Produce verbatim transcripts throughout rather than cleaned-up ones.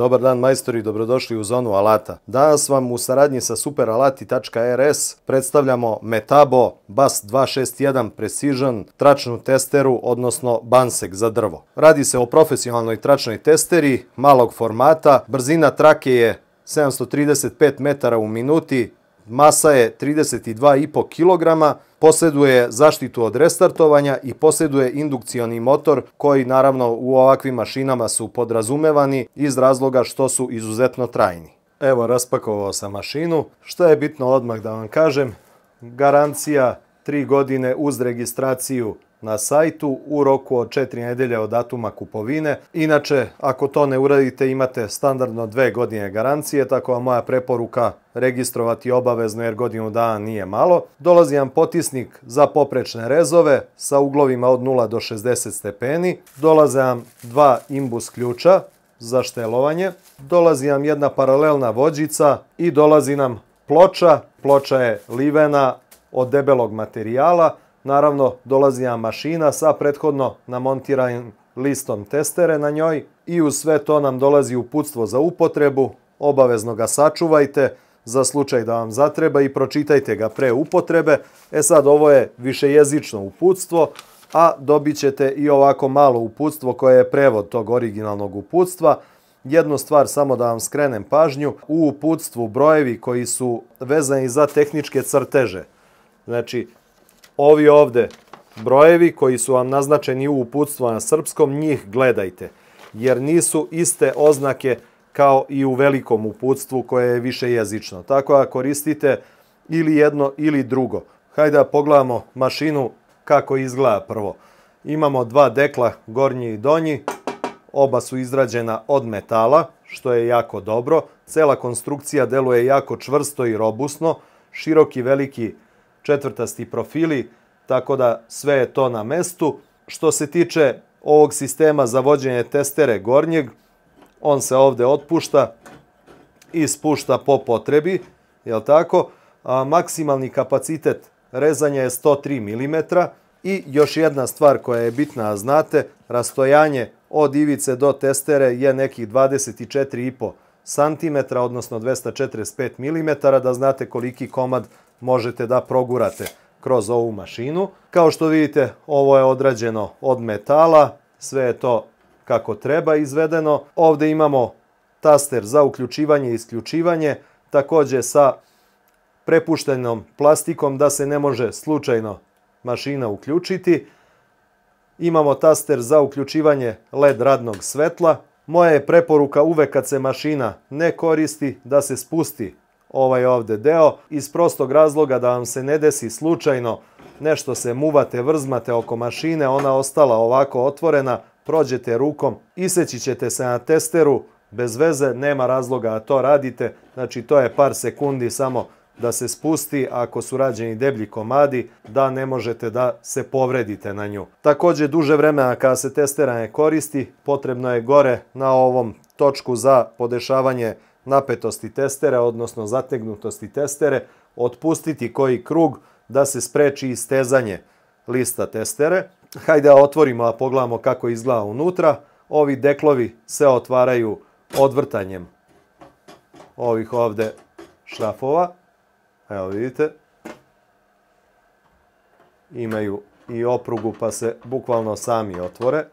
Dobar dan majstori, dobrodošli u zonu alata. Danas vam u saradnji sa superalati tačka er es predstavljamo Metabo Bus dva šest jedan Precision tračnu testeru, odnosno Bansek za drvo. Radi se o profesionalnoj tračnoj testeri malog formata, brzina trake je sedamsto trideset pet metara u minuti, masa je trideset dva i po kilograma, posjeduje zaštitu od restartovanja i posjeduje indukcioni motor koji naravno u ovakvim mašinama su podrazumevani iz razloga što su izuzetno trajni. Evo, raspakovao sam mašinu. Što je bitno odmah da vam kažem, garancija tri godine uz registraciju na sajtu u roku od četiri nedelje od datuma kupovine. Inače, ako to ne uradite, imate standardno dve godine garancije, tako da moja preporuka registrovati obavezno jer godinu dana nije malo. Dolazi vam potisnik za poprečne rezove sa uglovima od nula do šezdeset stepeni. Dolaze vam dva imbus ključa za štelovanje. Dolazi vam jedna paralelna vođica i dolazi nam ploča. Ploča je livena od debelog materijala. Naravno, dolazi nam mašina sa prethodno namontiranim listom testere na njoj i uz sve to nam dolazi uputstvo za upotrebu. Obavezno ga sačuvajte za slučaj da vam zatreba i pročitajte ga pre upotrebe. E sad, ovo je višejezično uputstvo, a dobit ćete i ovako malo uputstvo koje je prevod tog originalnog uputstva. Jednu stvar samo da vam skrenem pažnju, u uputstvu brojevi koji su vezani za tehničke crteže. Znači, ovi ovde brojevi koji su vam naznačeni u uputstvu na srpskom, njih gledajte, jer nisu iste oznake kao i u velikom uputstvu koje je višejezično. Tako da koristite ili jedno ili drugo. Hajde da pogledamo mašinu kako izgleda prvo. Imamo dva dekla, gornji i donji. Oba su izrađena od metala, što je jako dobro. Cela konstrukcija deluje jako čvrsto i robusno. Široki, veliki četvrtasti profili, tako da sve je to na mestu. Što se tiče ovog sistema za vođenje testere gornjeg, on se ovde otpušta i spušta po potrebi, jel tako? A maksimalni kapacitet rezanja je sto tri milimetra i još jedna stvar koja je bitna, a znate, rastojanje od ivice do testere je nekih dvadeset četiri i po santimetra, odnosno dvesta četrdeset pet milimetara, da znate koliki komad možete da progurate kroz ovu mašinu. Kao što vidite, ovo je odrađeno od metala, sve je to kako treba izvedeno. Ovde imamo taster za uključivanje i isključivanje, takođe sa prepuštenom plastikom da se ne može slučajno mašina uključiti. Imamo taster za uključivanje led radnog svetla. Moja je preporuka uvek kad se mašina ne koristi da se spusti ovaj ovde deo, iz prostog razloga da vam se ne desi slučajno nešto se muvate, vrzmate oko mašine, ona ostala ovako otvorena, prođete rukom, iseći ćete se na testeru, bez veze, nema razloga da to radite, znači to je par sekundi samo da se spusti, ako su rađeni deblji komadi, da ne možete da se povredite na nju. Takođe, duže vremena kada se testera ne koristi, potrebno je gore na ovom točku za podešavanje napetosti testere, odnosno zategnutosti testere, otpustiti koji krug da se spreči istezanje lista testere. Hajde da otvorimo, a pogledamo kako izgleda unutra. Ovi deklovi se otvaraju odvrtanjem ovih ovde šrafova. Evo vidite. Imaju i oprugu pa se bukvalno sami otvore.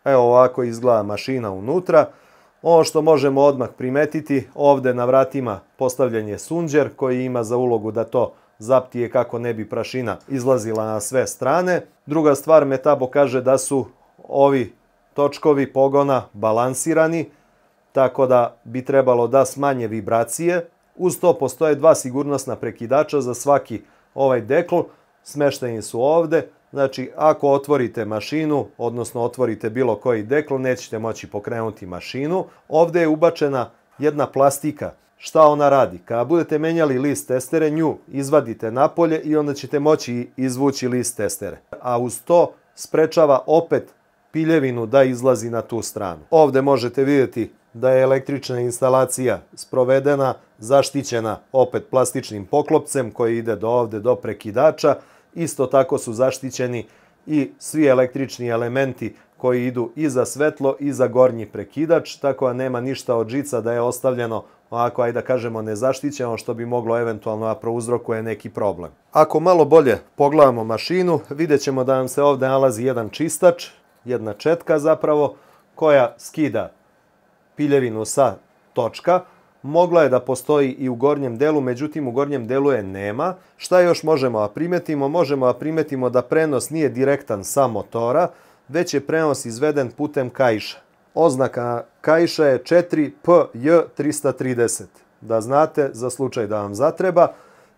Evo ovako izgleda mašina unutra. Ono što možemo odmah primetiti, ovde na vratima postavljen je sunđer koji ima za ulogu da to zaptije kako ne bi prašina izlazila na sve strane. Druga stvar, Metabo kaže da su ovi točkovi pogona balansirani, tako da bi trebalo da smanje vibracije. Uz to postoje dva sigurnosna prekidača za svaki ovaj dekl, smešteni su ovde. Znači, ako otvorite mašinu, odnosno otvorite bilo koji dekl, nećete moći pokrenuti mašinu. Ovde je ubačena jedna plastika. Šta ona radi? Kada budete menjali list testere, nju izvadite napolje i onda ćete moći izvući list testere. A uz to sprečava opet piljevinu da izlazi na tu stranu. Ovde možete vidjeti da je električna instalacija sprovedena, zaštićena opet plastičnim poklopcem koji ide do ovde do prekidača. Isto tako su zaštićeni i svi električni elementi koji idu i za svetlo i za gornji prekidač, tako da nema ništa od žica da je ostavljeno ovako, ajde da kažemo, nezaštićeno, što bi moglo eventualno da prouzrokuje neki problem. Ako malo bolje pogledamo mašinu, vidjet ćemo da nam se ovdje nalazi jedan čistač, jedna četka zapravo, koja skida piljevinu sa točka. Mogla je da postoji i u gornjem delu, međutim u gornjem delu je nema. Šta još možemo da primetimo? Možemo da primetimo da prenos nije direktan sa motora, već je prenos izveden putem kaiša. Oznaka kaiša je četiri P J trista trideset. Da znate, za slučaj da vam zatreba.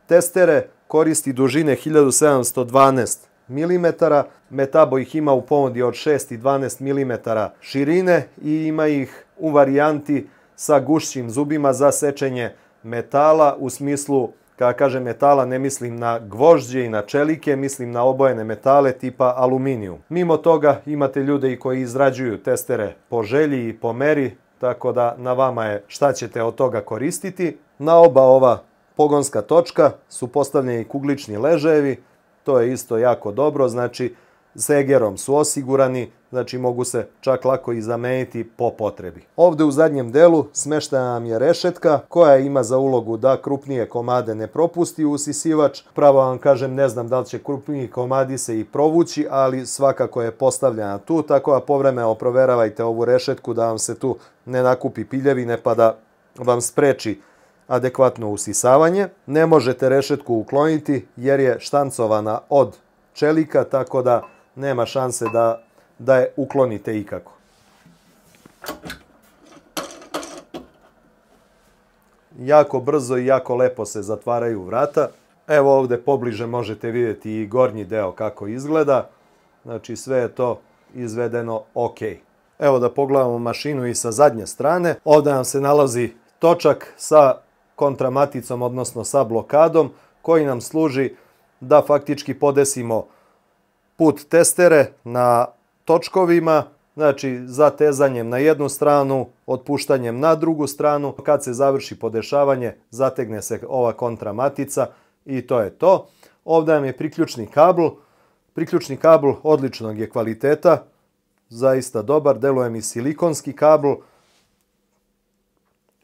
Testere koristi dužine hiljadu sedamsto dvanaest milimetara. Metabo ih ima u ponudi od šest i dvanaest milimetara širine i ima ih u varijanti sa gušćim zubima za sečenje metala. U smislu, kada kažem metala, ne mislim na gvožđe i na čelike, mislim na obojene metale tipa aluminijum. Mimo toga imate ljude i koji izrađuju testere po želji i po meri, tako da na vama je šta ćete od toga koristiti. Na oba ova pogonska točka su postavljeni kuglični ležajevi, to je isto jako dobro, znači s egerom su osigurani, znači mogu se čak lako i zameniti po potrebi. Ovde u zadnjem delu smeštena nam je rešetka koja ima za ulogu da krupnije komade ne propusti u usisivač. Pravo vam kažem, ne znam da li će krupniji komadi se i provući, ali svakako je postavljena tu, tako da povremeno proveravajte ovu rešetku da vam se tu ne nakupi piljevine pa da vam spreči adekvatno usisavanje. Ne možete rešetku ukloniti jer je štancovana od čelika, tako da nema šanse da, da je uklonite ikako. Jako brzo i jako lepo se zatvaraju vrata. Evo ovdje pobliže možete vidjeti i gornji deo kako izgleda. Znači sve je to izvedeno ok. Evo da pogledamo mašinu i sa zadnje strane. Ovdje nam se nalazi točak sa kontramaticom, odnosno sa blokadom, koji nam služi da faktički podesimo put testere na točkovima, znači zatezanjem na jednu stranu, otpuštanjem na drugu stranu. Kad se završi podešavanje, zategne se ova kontramatica i to je to. Ovdje nam je priključni kabl. Priključni kabl odličnog je kvaliteta, zaista dobar, deluje mi silikonski kabl.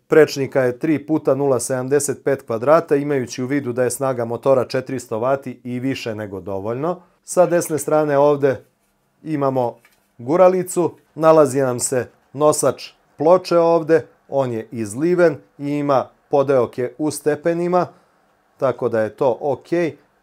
Prečnika je tri puta nula zarez sedamdeset pet kvadrata, imajući u vidu da je snaga motora četiristo vati i više nego dovoljno. Sa desne strane ovdje imamo guralicu, nalazi nam se nosač ploče ovdje, on je izliven i ima podeoke u stepenima, tako da je to ok.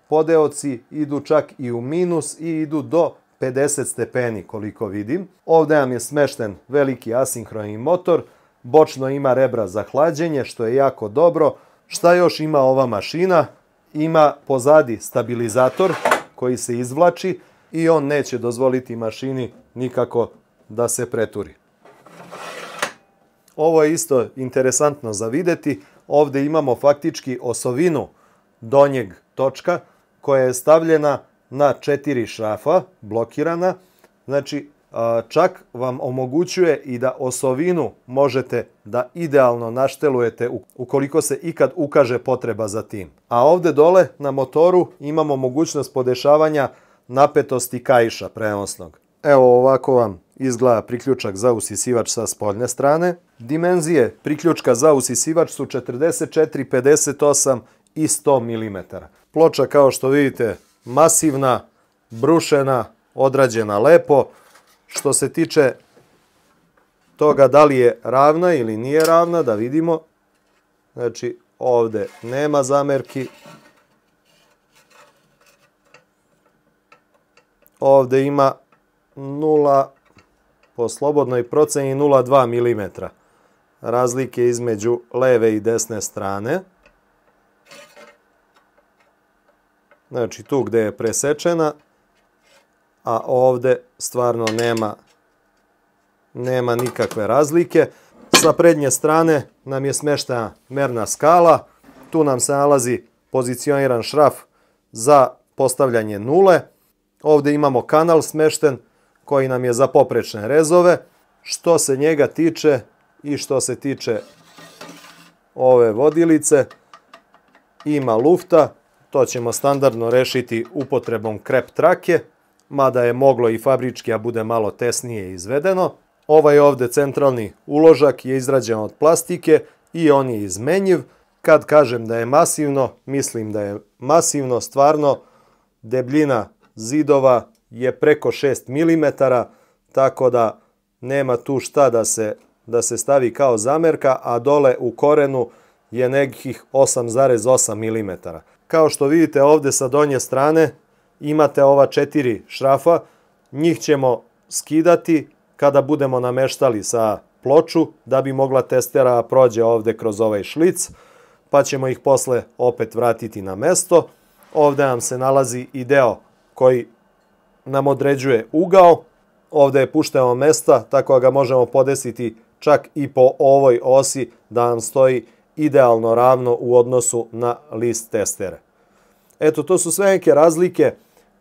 Podeoci idu čak i u minus i idu do pedeset stepeni koliko vidim. Ovdje nam je smešten veliki asinhroni motor, bočno ima rebra za hlađenje, što je jako dobro. Šta još ima ova mašina? Ima pozadi stabilizator koji se izvlači i on neće dozvoliti mašini nikako da se preturi. Ovo je isto interesantno za vidjeti. Ovdje imamo faktički osovinu donjeg točka koja je stavljena na četiri šrafa, blokirana. Znači, čak vam omogućuje i da osovinu možete da idealno naštelujete ukoliko se ikad ukaže potreba za tim. A ovdje dole na motoru imamo mogućnost podešavanja napetosti kaiša prenosnog. Evo ovako vam izgleda priključak za usisivač sa spoljne strane. Dimenzije priključka za usisivač su četrdeset četiri, pedeset osam i sto milimetara. Ploča, kao što vidite, masivna, brušena, odrađena lepo. Što se tiče toga da li je ravna ili nije ravna, da vidimo. Znači, ovdje nema zamerki. Ovdje ima nula, po slobodnoj proceni nula zarez dva milimetra razlike između leve i desne strane. Znači, tu gdje je presečena, a ovdje stvarno nema, nema nikakve razlike. Sa prednje strane nam je smeštena merna skala. Tu nam se nalazi pozicioniran šraf za postavljanje nule. Ovdje imamo kanal smešten koji nam je za poprečne rezove. Što se njega tiče i što se tiče ove vodilice, ima lufta. To ćemo standardno rešiti upotrebom krep trake. mada je moglo i fabrički, a bude malo tesnije izvedeno. Ovaj ovde centralni uložak je izrađen od plastike i on je izmenjiv. Kad kažem da je masivno, mislim da je masivno, stvarno debljina zidova je preko šest milimetara, tako da nema tu šta da se, da se stavi kao zamerka, a dole u korenu je nekih osam zarez osam milimetara. Kao što vidite ovde sa donje strane imate ova četiri šrafa, njih ćemo skidati kada budemo nameštali sa ploču da bi mogla testera prođe ovde kroz ovaj šlic, pa ćemo ih posle opet vratiti na mesto. Ovde nam se nalazi i deo koji nam određuje ugao. Ovde je pušteno mesta, tako da ga možemo podesiti čak i po ovoj osi da nam stoji idealno ravno u odnosu na list testere. Eto, to su sve neke razlike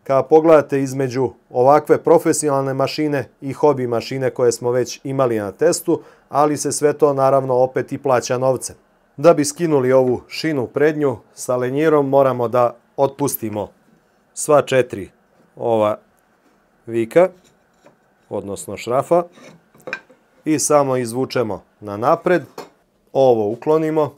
kada pogledate između ovakve profesionalne mašine i hobi mašine koje smo već imali na testu, ali se sve to naravno opet i plaća novcem. Da bi skinuli ovu šinu prednju sa lenjirom moramo da otpustimo sva četiri ova vika, odnosno šrafa, i samo izvučemo na napred. Ovo uklonimo.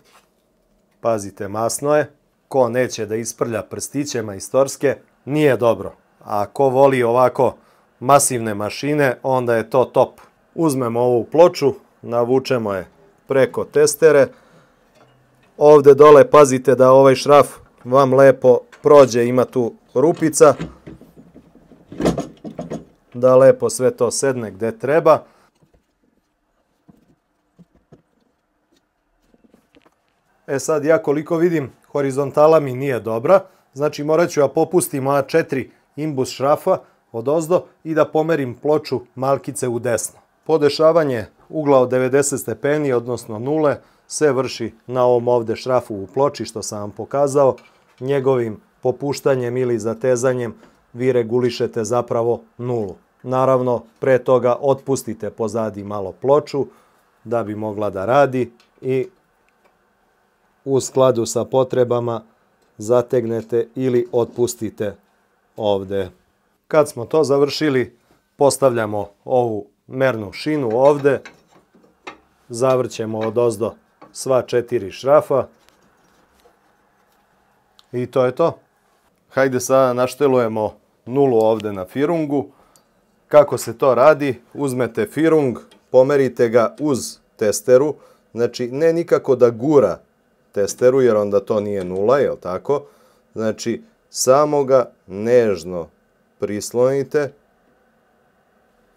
Pazite, masno je. Ko neće da isprlja prstiće majstorske, nije dobro. A ko voli ovako masivne mašine, onda je to top. Uzmemo ovu ploču, navučemo je preko testere. Ovde dole pazite da ovaj šraf vam lepo prođe, ima tu rupica, da lepo sve to sedne gde treba. E sad, ja koliko vidim, horizontala mi nije dobra, znači morat ću da popustim ova četiri imbus šrafa odozdo i da pomerim ploču malkice u desno. Podešavanje ugla od devedeset stepeni, odnosno nule, se vrši na ovom ovde šrafu u ploči što sam vam pokazao. Njegovim popuštanjem ili zatezanjem vi regulišete zapravo nulu. Naravno, pre toga otpustite pozadi malo ploču da bi mogla da radi i u skladu sa potrebama zategnete ili otpustite ovde. Kad smo to završili, postavljamo ovu mernu šinu ovde, zavrćemo odozdo sva četiri šrafa i to je to. Hajde sada naštelujemo nulu ovde na firungu. Kako se to radi? Uzmete firung, pomerite ga uz testeru, znači ne nikako da gura testeru jer onda to nije nula, jel tako? Znači samo ga nežno prislonite,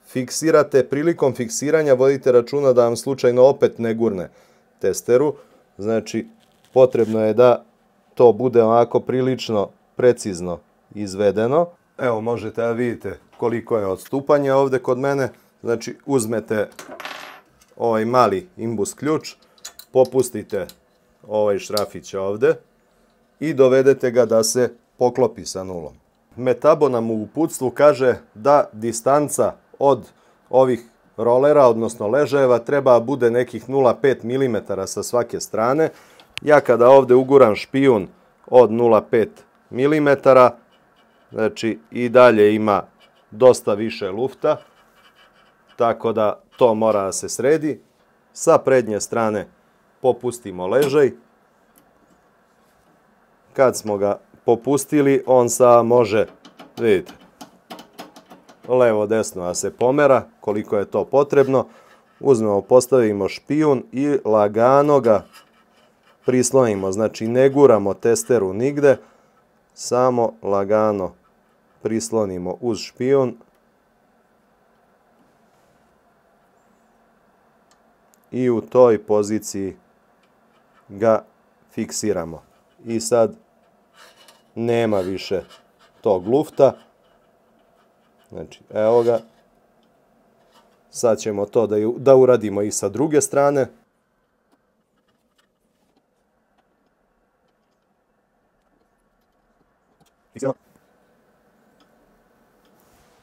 fiksirate, prilikom fiksiranja vodite računa da vam slučajno opet ne gurne testeru, znači potrebno je da to bude onako prilično precizno izvedeno. Evo možete da vidite koliko je odstupanje ovde kod mene, znači uzmete ovaj mali imbus ključ, popustite ovaj šrafić ovde i dovedete ga da se poklopi sa nulom. Metabo nam u uputstvu kaže da distanca od ovih rolera, odnosno ležajeva, treba bude nekih nula zarez pet milimetara sa svake strane. Ja kada ovde uguram špijun od nula zarez pet milimetara, znači i dalje ima dosta više lufta, tako da to mora da se sredi. Sa prednje strane popustimo ležaj. Kad smo ga popustili, on sad može, vidite, levo desno da se pomera koliko je to potrebno. Uzmemo, postavimo špijun i lagano ga prislonimo, znači ne guramo testeru nigde, samo lagano prislonimo uz špijun i u toj poziciji ga fiksiramo. I sad nema više tog lufta. Znači, evo ga. Sad ćemo to da, da uradimo i sa druge strane.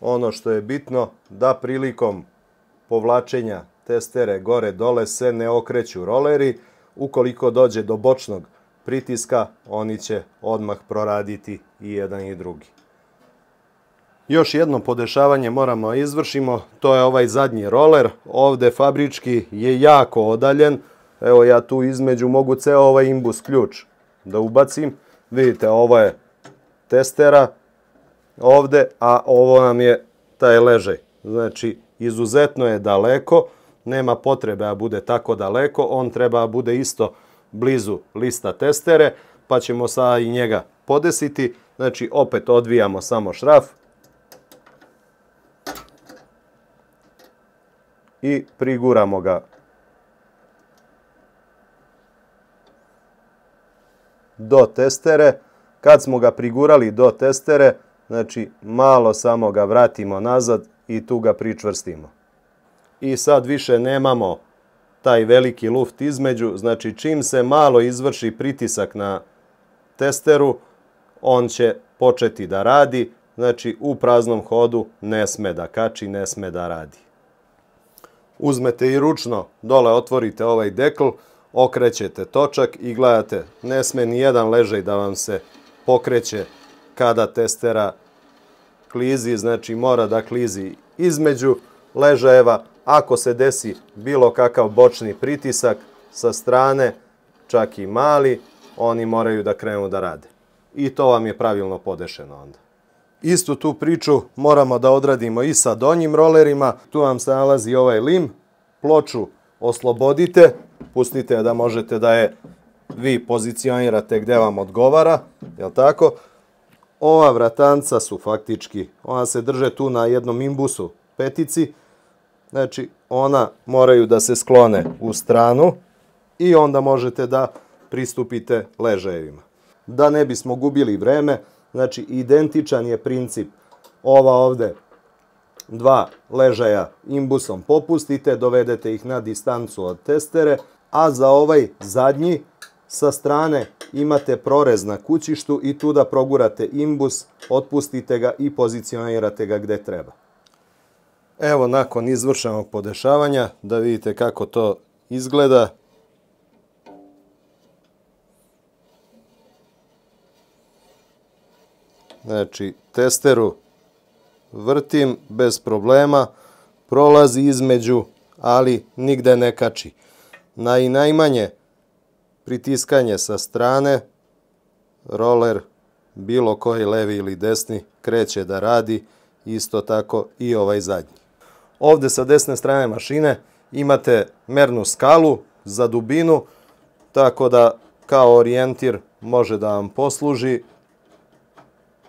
Ono što je bitno, da prilikom povlačenja testere gore-dole se ne okreću roleri. Ukoliko dođe do bočnog pritiska, oni će odmah proraditi i jedan i drugi. Još jedno podešavanje moramo izvršimo, to je ovaj zadnji roler. Ovde fabrički je jako odaljen. Evo ja tu između mogu ceo ovaj imbus ključ da ubacim. Vidite, ovo je testera ovde, a ovo nam je taj ležaj. Znači, izuzetno je daleko, nema potrebe da bude tako daleko, on treba da bude isto blizu lista testere, pa ćemo sada i njega podesiti. Znači, opet odvijamo samo šraf i priguramo ga do testere. Kad smo ga prigurali do testere, znači malo samo ga vratimo nazad i tu ga pričvrstimo. I sad više nemamo taj veliki luft između, znači čim se malo izvrši pritisak na testeru, on će početi da radi, znači u praznom hodu ne sme da kači, ne sme da radi. Uzmete i ručno, dole otvorite ovaj dekl, okrećete točak i gledate, ne sme ni jedan ležaj da vam se pokreće kada testera klizi, znači mora da klizi između ležajeva. Ako se desi bilo kakav bočni pritisak sa strane, čak i mali, oni moraju da krenu da rade. I to vam je pravilno podešeno onda. Istu tu priču moramo da odradimo i sa donjim rolerima. Tu vam se nalazi ovaj lim. Ploču oslobodite, pustite da možete da je vi pozicionirate gde vam odgovara, jel tako? Ova vratanca su faktički, ona se drže tu na jednom imbusu petici, znači ona moraju da se sklone u stranu i onda možete da pristupite ležajevima. Da ne bismo gubili vreme, znači identičan je princip. Ova ovde dva ležaja imbusom popustite, dovedete ih na distancu od testere, a za ovaj zadnji sa strane imate prorez na kućištu i tu da progurate imbus, otpustite ga i pozicionirate ga gde treba. Evo nakon izvršenog podešavanja da vidite kako to izgleda. Znači testeru vrtim bez problema, prolazi između, ali nigde ne kači. Na i najmanje pritiskanje sa strane, roler, bilo koji levi ili desni, kreće da radi, isto tako i ovaj zadnji. Ovde sa desne strane mašine imate mernu skalu za dubinu, tako da kao orijentir može da vam posluži.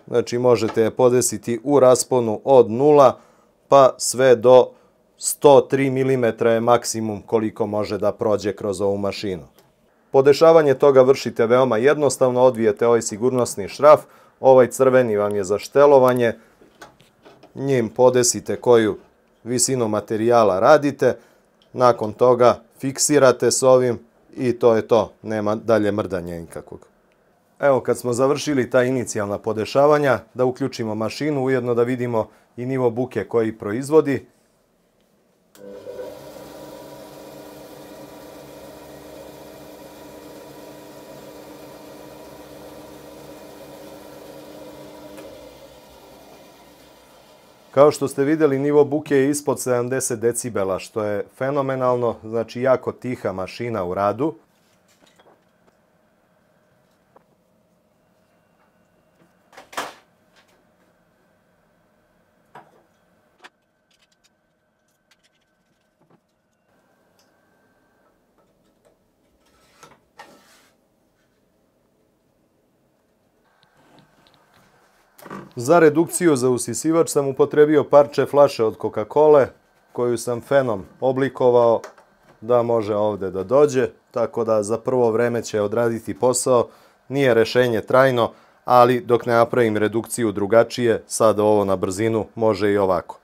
Znači možete je podesiti u rasponu od nula pa sve do sto tri milimetra je maksimum koliko može da prođe kroz ovu mašinu. Podešavanje toga vršite veoma jednostavno, odvijete ovaj sigurnosni šraf, ovaj crveni vam je za štelovanje, njim podesite koju visinu materijala radite, nakon toga fiksirate s ovim i to je to, nema dalje mrdanja nikakvog. Evo kad smo završili ta inicijalna podešavanja, da uključimo mašinu, ujedno da vidimo i nivo buke koji proizvodi. Kao što ste vidjeli, nivo buke je ispod sedamdeset decibela, što je fenomenalno, znači jako tiha mašina u radu. Za redukciju za usisivač sam upotrebio parče flaše od Coca-Cole, koju sam fenom oblikovao da može ovde da dođe, tako da za prvo vreme će odraditi posao. Nije rešenje trajno, ali dok ne napravim redukciju drugačije, sad ovo na brzinu može i ovako.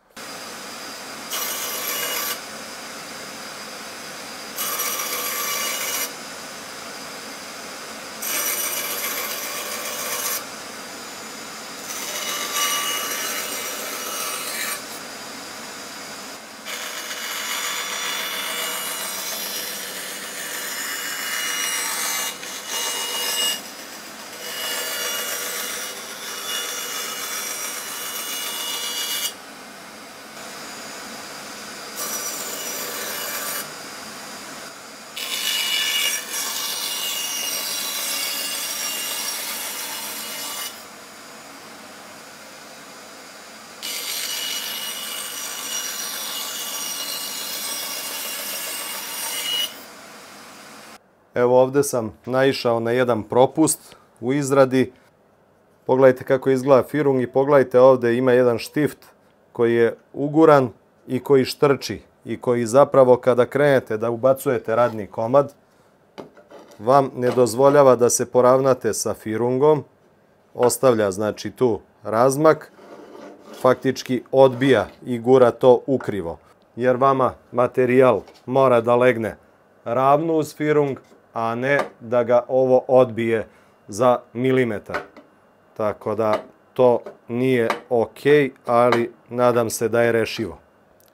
Evo ovdje sam naišao na jedan propust u izradi. Pogledajte kako izgleda firung i pogledajte ovdje ima jedan štift koji je uguran i koji štrči i koji zapravo kada krenete da ubacujete radni komad vam ne dozvoljava da se poravnate sa firungom, ostavlja znači tu razmak, faktički odbija i gura to ukrivo, jer vama materijal mora da legne ravno uz firung, a ne da ga ovo odbije za milimetar. Tako da to nije ok, ali nadam se da je rešivo.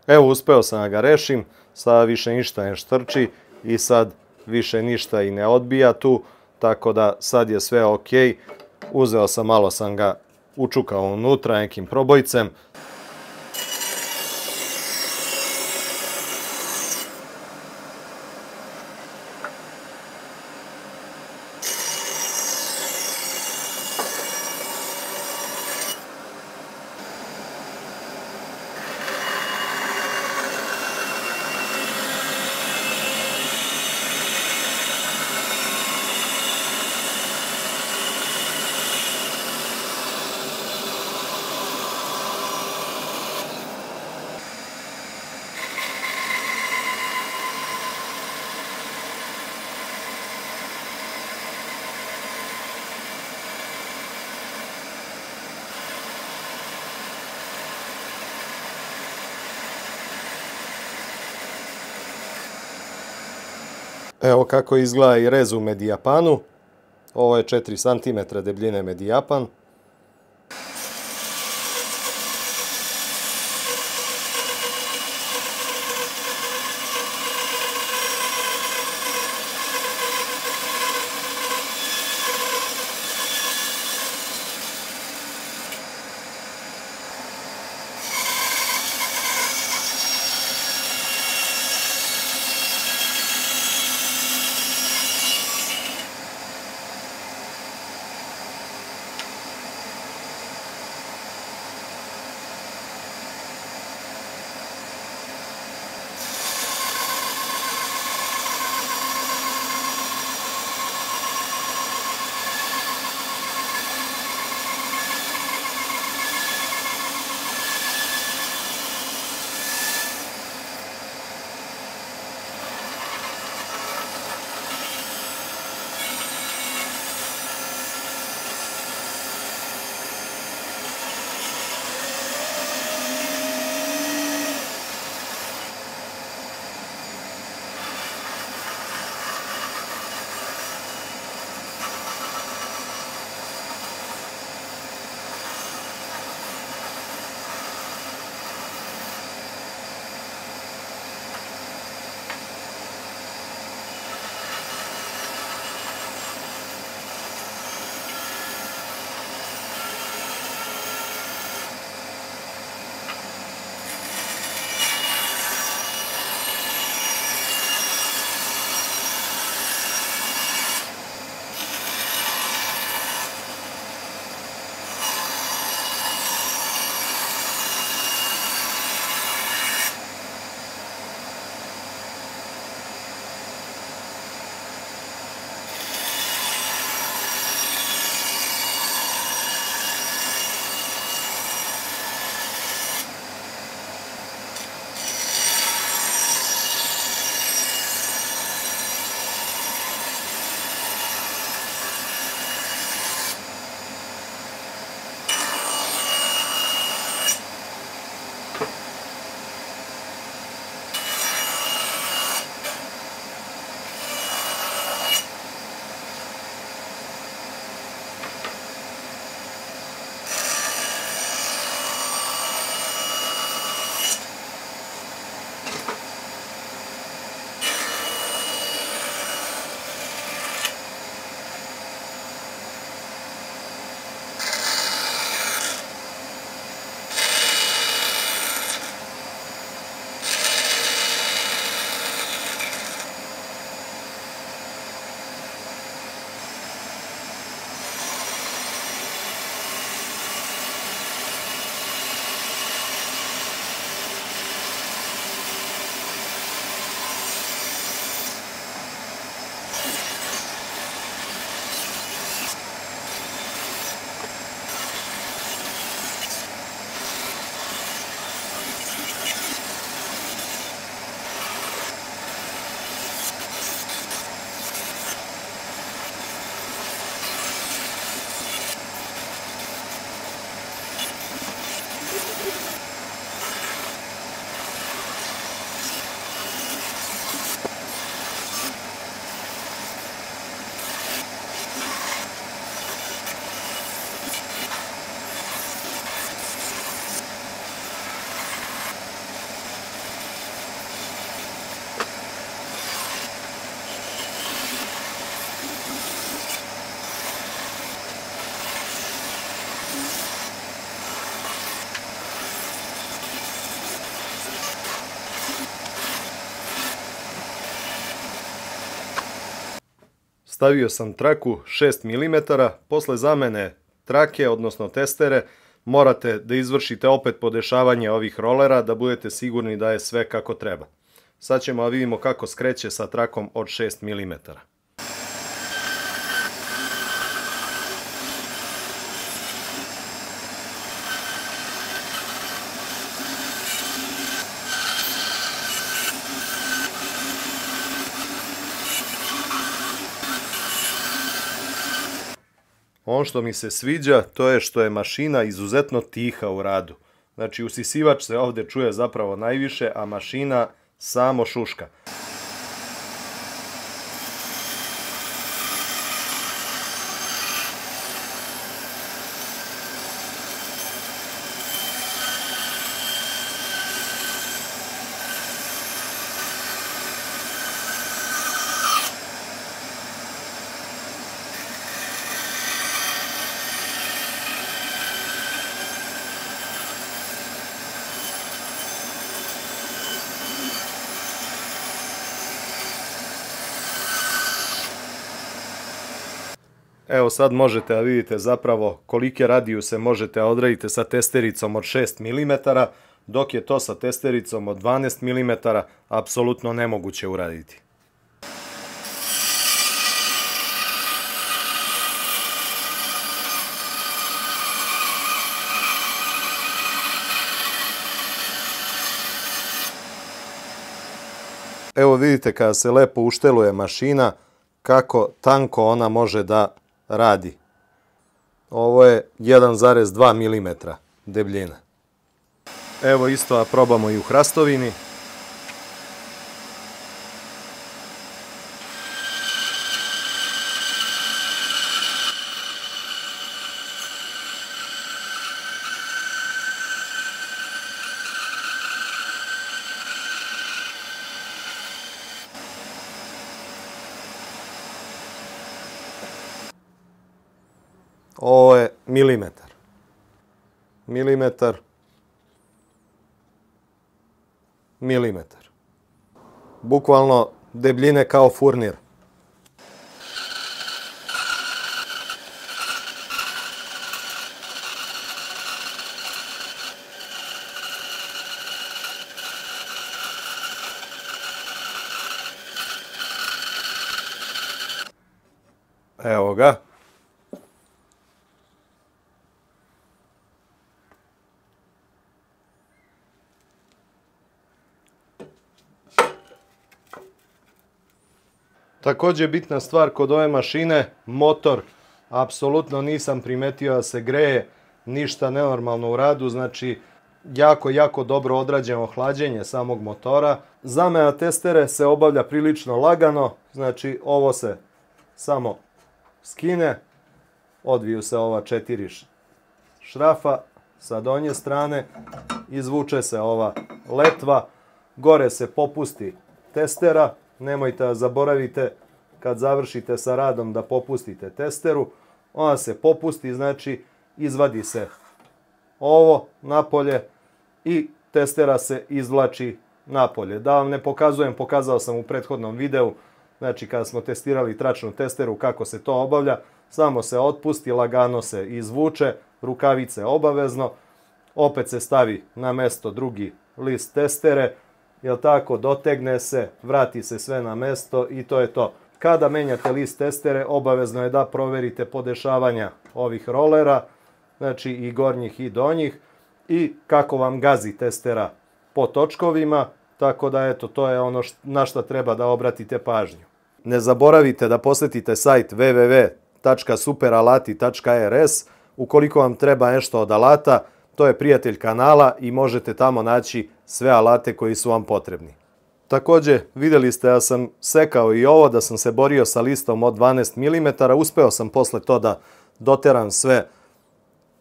Evo, uspeo sam da ga rešim, sada više ništa ne štrči i sad više ništa i ne odbija tu, tako da sad je sve ok. Uzeo sam, malo sam ga učukao unutra nekim probojcem. Evo kako izgleda i rez u medijapanu. Ovo je četiri centimetra debljine medijapan. Stavio sam traku šest milimetara, posle zamene trake, odnosno testere, morate da izvršite opet podešavanje ovih rolera da budete sigurni da je sve kako treba. Sad ćemo da vidimo kako skreće sa trakom od šest milimetara. Ono što mi se sviđa, to je što je mašina izuzetno tiha u radu. Znači, usisivač se ovde čuje zapravo najviše, a mašina samo šuška. Evo sad možete da vidite zapravo kolike radijuse možete da odradite sa testericom od šest milimetara, dok je to sa testericom od dvanaest milimetara apsolutno nemoguće uraditi. Evo vidite kada se lepo ušteluje mašina, kako tanko ona može da radi. Ovo je jedan zarez dva milimetra debljina. Evo isto da probamo i u hrastovini. Ovo je milimetar. Milimetar. Milimetar. Bukvalno debljine kao furnir. Evo ga. Također bitna stvar kod ove mašine, motor, apsolutno nisam primetio da se greje, ništa nenormalno u radu, znači jako, jako dobro odrađeno hlađenje samog motora. Zamena testere se obavlja prilično lagano, znači ovo se samo skine, odviju se ova četiri šrafa sa donje strane, izvuče se ova letva, gore se popusti testera. Nemojte da zaboravite kad završite sa radom da popustite testeru. Ona se popusti, znači izvadi se ovo napolje i testera se izvlači napolje. Da vam ne pokazujem, pokazao sam u prethodnom videu, znači kada smo testirali tračnu testeru kako se to obavlja. Samo se otpusti, lagano se izvuče, rukavice obavezno, opet se stavi na mesto drugi list testere, jel tako, dotegne se, vrati se sve na mesto i to je to. Kada menjate list testere, obavezno je da proverite podešavanja ovih rolera, znači i gornjih i donjih, i kako vam gazi testera po točkovima, tako da eto, to je ono na što treba da obratite pažnju. Ne zaboravite da posetite sajt w w w tačka superalati tačka r s ukoliko vam treba nešto od alata. To je prijatelj kanala i možete tamo naći sve alate koji su vam potrebni. Također, vidjeli ste da sam sekao i ovo, da sam se borio sa listom od dvanaest milimetara. Uspeo sam posle to da doteram sve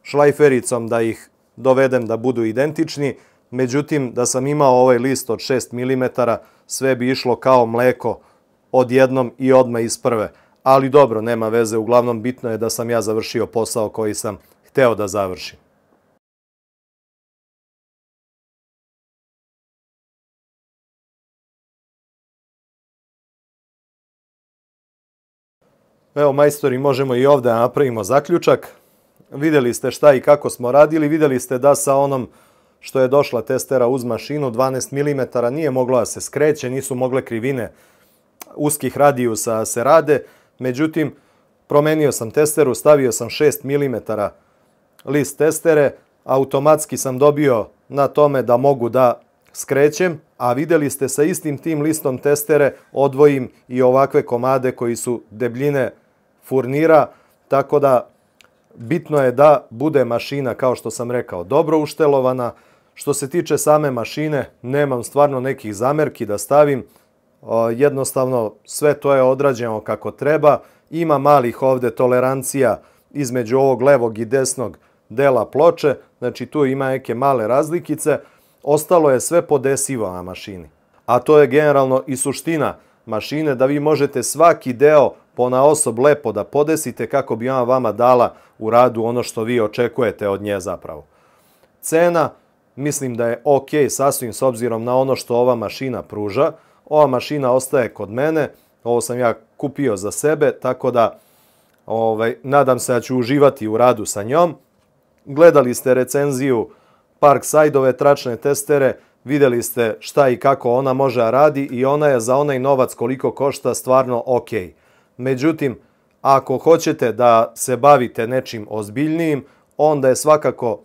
šlajfericom, da ih dovedem da budu identični. Međutim, da sam imao ovaj list od šest milimetara, sve bi išlo kao mleko odjednom i odmah iz prve. Ali dobro, nema veze, uglavnom bitno je da sam ja završio posao koji sam hteo da završim. Evo, majstori, možemo i ovdje napravimo zaključak. Vidjeli ste šta i kako smo radili, vidjeli ste da sa onom što je došla testera uz mašinu, dvanaest milimetara, nije moglo da se skreće, nisu mogle krivine uskih radijusa da se rade. Međutim, promenio sam testeru, stavio sam šest milimetara list testere, automatski sam dobio na tome da mogu da skrećem, a vidjeli ste sa istim tim listom testere odvojim i ovakve komade koji su debljine furnira, tako da bitno je da bude mašina, kao što sam rekao, dobro uštelovana. Što se tiče same mašine, nemam stvarno nekih zamerki da stavim, jednostavno sve to je odrađeno kako treba. Ima malih ovdje tolerancija između ovog levog i desnog dela ploče, znači tu ima neke male razlikice. Ostalo je sve podesivo na mašini. A to je generalno i suština mašine, da vi možete svaki deo ponaosob lepo da podesite kako bi ona vama dala u radu ono što vi očekujete od nje zapravo. Cena, mislim da je ok sasvim s obzirom na ono što ova mašina pruža. Ova mašina ostaje kod mene, ovo sam ja kupio za sebe, tako da ovaj, nadam se da ću uživati u radu sa njom. Gledali ste recenziju Parkside-ove tračne testere, vidjeli ste šta i kako ona može da radi i ona je za onaj novac koliko košta stvarno ok. Međutim, ako hoćete da se bavite nečim ozbiljnijim, onda je svakako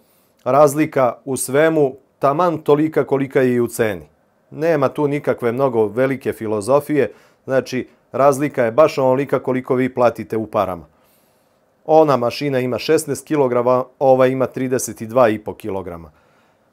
razlika u svemu taman tolika kolika je i u ceni. Nema tu nikakve mnogo velike filozofije, znači razlika je baš onolika koliko vi platite u parama. Ona mašina ima šesnaest kilograma, ova ima trideset dva i po kilograma.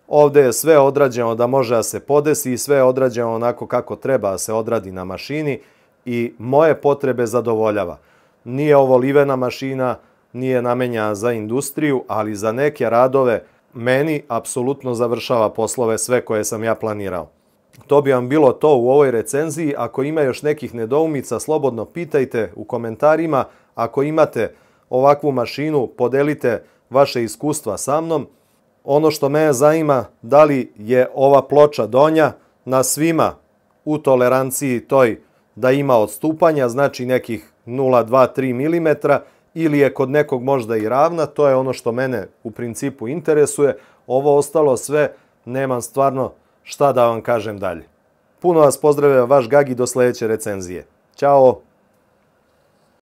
Ovdje je sve odrađeno da može da se podesi i sve je odrađeno onako kako treba da se odradi na mašini i moje potrebe zadovoljava. Nije ovo livena mašina, nije namenjena za industriju, ali za neke radove meni apsolutno završava poslove sve koje sam ja planirao. To bi vam bilo to u ovoj recenziji. Ako ima još nekih nedoumica, slobodno pitajte u komentarima. Ako imate ovakvu mašinu, podelite vaše iskustva sa mnom. Ono što mene zanima, da li je ova ploča donja na svima u toleranciji toj da ima odstupanja, znači nekih nula zarez dva tri milimetra, ili je kod nekog možda i ravna, to je ono što mene u principu interesuje. Ovo ostalo sve, nemam stvarno šta da vam kažem dalje. Puno vas pozdravlja vaš Gagi, do sljedeće recenzije. Ćao!